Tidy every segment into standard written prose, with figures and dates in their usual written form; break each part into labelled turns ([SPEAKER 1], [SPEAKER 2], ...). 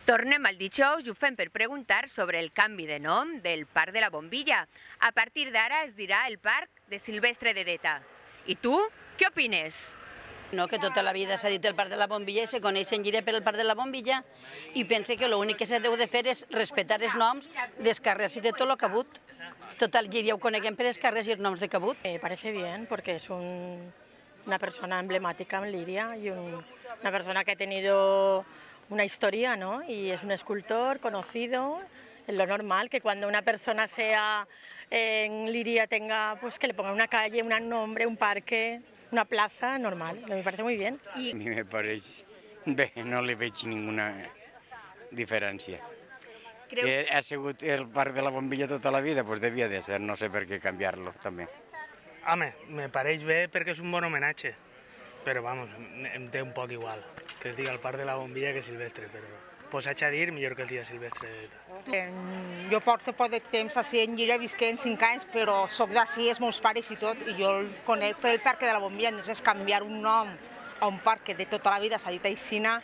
[SPEAKER 1] Tornem al dijous i ho fem per preguntar sobre el canvi de nom del Parc de la Bombilla. A partir d'ara es dirà el Parc de Silvestre de Deta. I tu, què opines?
[SPEAKER 2] No, que tota la vida s'ha dit el Parc de la Bombilla i se coneix en Llíria per el Parc de la Bombilla i pense que l'únic que se deu de fer és respectar els noms dels carrers i de tot el que ha hagut. Tot el Llíria ho coneguem per els carrers i els noms de que ha hagut.
[SPEAKER 3] Me parece bien porque es una persona emblemática en Liria y una persona que ha tenido una historia, ¿no? Y es un escultor conocido. Es lo normal que cuando una persona sea en Liria tenga, pues que le pongan una calle, un nombre, un parque, una plaza, normal. Me parece muy bien.
[SPEAKER 4] A mi me pareix bé, no li veig ninguna diferència. Que ha sigut el Parc de la Bombilla tota la vida, doncs devia de ser, no sé per què canviar-lo també.
[SPEAKER 5] Home, me pareix bé perquè és un bon homenatge, però vamos, em té un poc igual que es diga el Parc de la Bombilla que Silvestre, però posats a dir millor que es diga Silvestre de Deta.
[SPEAKER 6] Jo porto poc de temps així en Llíria, visquent 5 anys, però soc d'ací, els meus pares i tot, i jo el conec pel Parc de la Bombilla, entonces canviar un nom a un parc que de tota la vida s'ha dit aixina,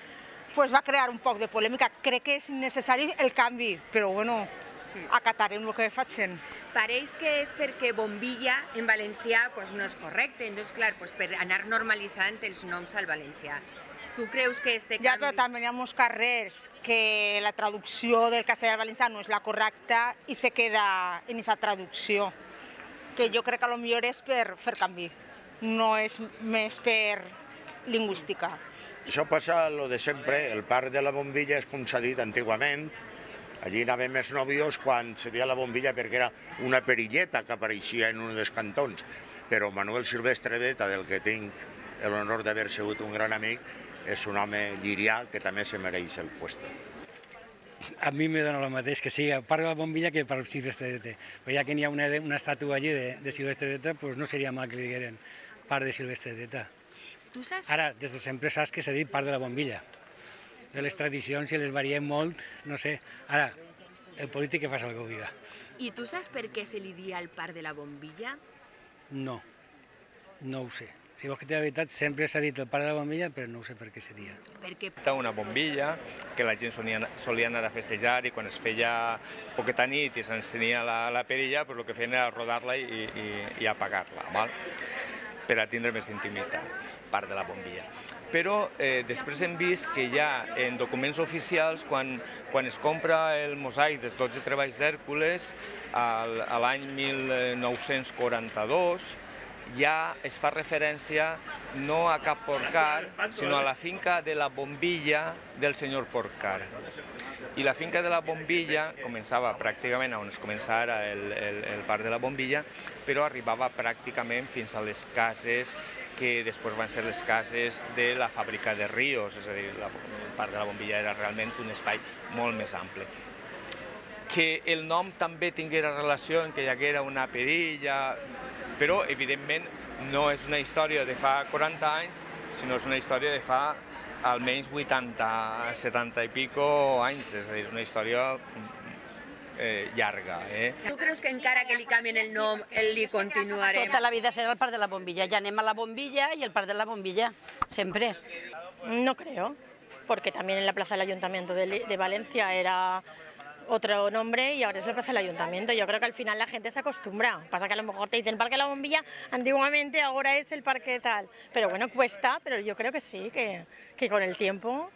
[SPEAKER 6] pues va crear un poc de polèmica. Crec que és necessari el canvi, però bueno, acatarem el que facin.
[SPEAKER 1] Pareix que és perquè Bombilla en valencià no és correcte, doncs clar, per anar normalitzant els noms al valencià. Tu creus que este canvi...
[SPEAKER 6] Ja, però també hi ha molts carrers que la traducció del castellà al valencià no és la correcta i se queda en aquesta traducció, que jo crec que potser és per fer canvi, no és més per lingüística.
[SPEAKER 7] Això passa lo de sempre, el Parc de la Bombilla és com s'ha dit antigament, allí anàvem els nòvios quan se deia la Bombilla perquè era una perilleta que apareixia en un dels cantons, però Manuel Silvestre Deta, del que tinc l'honor d'haver sigut un gran amic, és un home llirià que també se mereix el puesto.
[SPEAKER 8] A mi me dona el mateix que sigui el Parc de la Bombilla que el Parc Silvestre de Deta. Però ja que n'hi ha una estàtua allí de Silvestre de Deta, doncs no seria mal que li digueren Parc de Silvestre de Deta. Ara, des de sempre saps que s'ha dit Parc de la Bombilla. Les tradicions, si les variem molt, no sé. Ara, el polític que fa el que ho diga.
[SPEAKER 1] I tu saps per què se li dia el Parc de la Bombilla?
[SPEAKER 8] No, no ho sé. Si vols que té la veritat, sempre s'ha dit el Parc de la Bombilla, però no ho sé per què se dia.
[SPEAKER 9] Era una bombilla que la gent solia anar a festejar i quan es feia poqueta nit i s'encenia la perilla, el que feien era rodar-la i apagar-la, per a tindre més intimitat, Parc de la Bombilla. Però després hem vist que ja en documents oficials, quan es compra el mosaic dels 12 treballs d'Hèrcules, l'any 1942, ja es fa referència no a cap Porcar, sinó a la finca de la Bombilla del senyor Porcar. I la finca de la Bombilla començava pràcticament on es comença ara el Parc de la Bombilla, però arribava pràcticament fins a les cases que després van ser les cases de la fàbrica de Ríos, és a dir, el Parc de la Bombilla era realment un espai molt més ample. Que el nom també tinguera relació en que hi haguera una perilla, però evidentment no és una història de fa 40 anys, sinó és una història de fa almenys 80, 70 i pico anys, és a dir, una història llarga.
[SPEAKER 1] Tu creus que encara que li canvien el nom, li continuarem?
[SPEAKER 2] Tota la vida serà el Parc de la Bombilla, ja anem a la Bombilla i el Parc de la Bombilla, sempre.
[SPEAKER 3] No creo, porque también en la Plaza del Ayuntamiento de Valencia era otro nombre y ahora es la Plaza del Ayuntamiento. Yo creo que al final la gente se acostumbra. Pasa que a lo mejor te dicen Parque de la Bombilla antiguamente, ahora es el parque tal. Pero bueno, cuesta, pero yo creo que sí, que con el tiempo,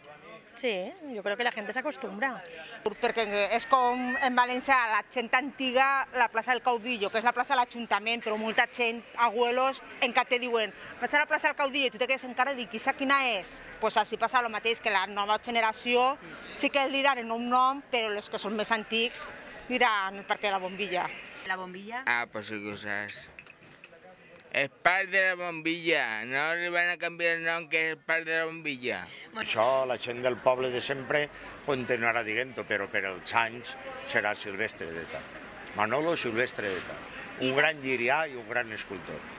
[SPEAKER 3] sí, yo creo que la gente se acostumbra.
[SPEAKER 6] Perquè és com en València la gent antiga, la plaça del Caudillo, que és la plaça de l'Ajuntament, però molta gent, abuelos, encara te diuen vaig a la plaça del Caudillo i tu te quedes encara i dic, quina és? Doncs així passa el mateix, que la nova generació sí que diran en un nom, però els que són més antics diran el Parc de la Bombilla.
[SPEAKER 1] La Bombilla?
[SPEAKER 10] Pues sí que ho saps. El Parc de la Bombilla, no li van a canviar el nom que és el Parc de la Bombilla.
[SPEAKER 7] Això la gent del poble de sempre continuarà dient-ho, però per els anys serà Silvestre Deta. Manolo Silvestre Deta, un gran llirià i un gran escultor.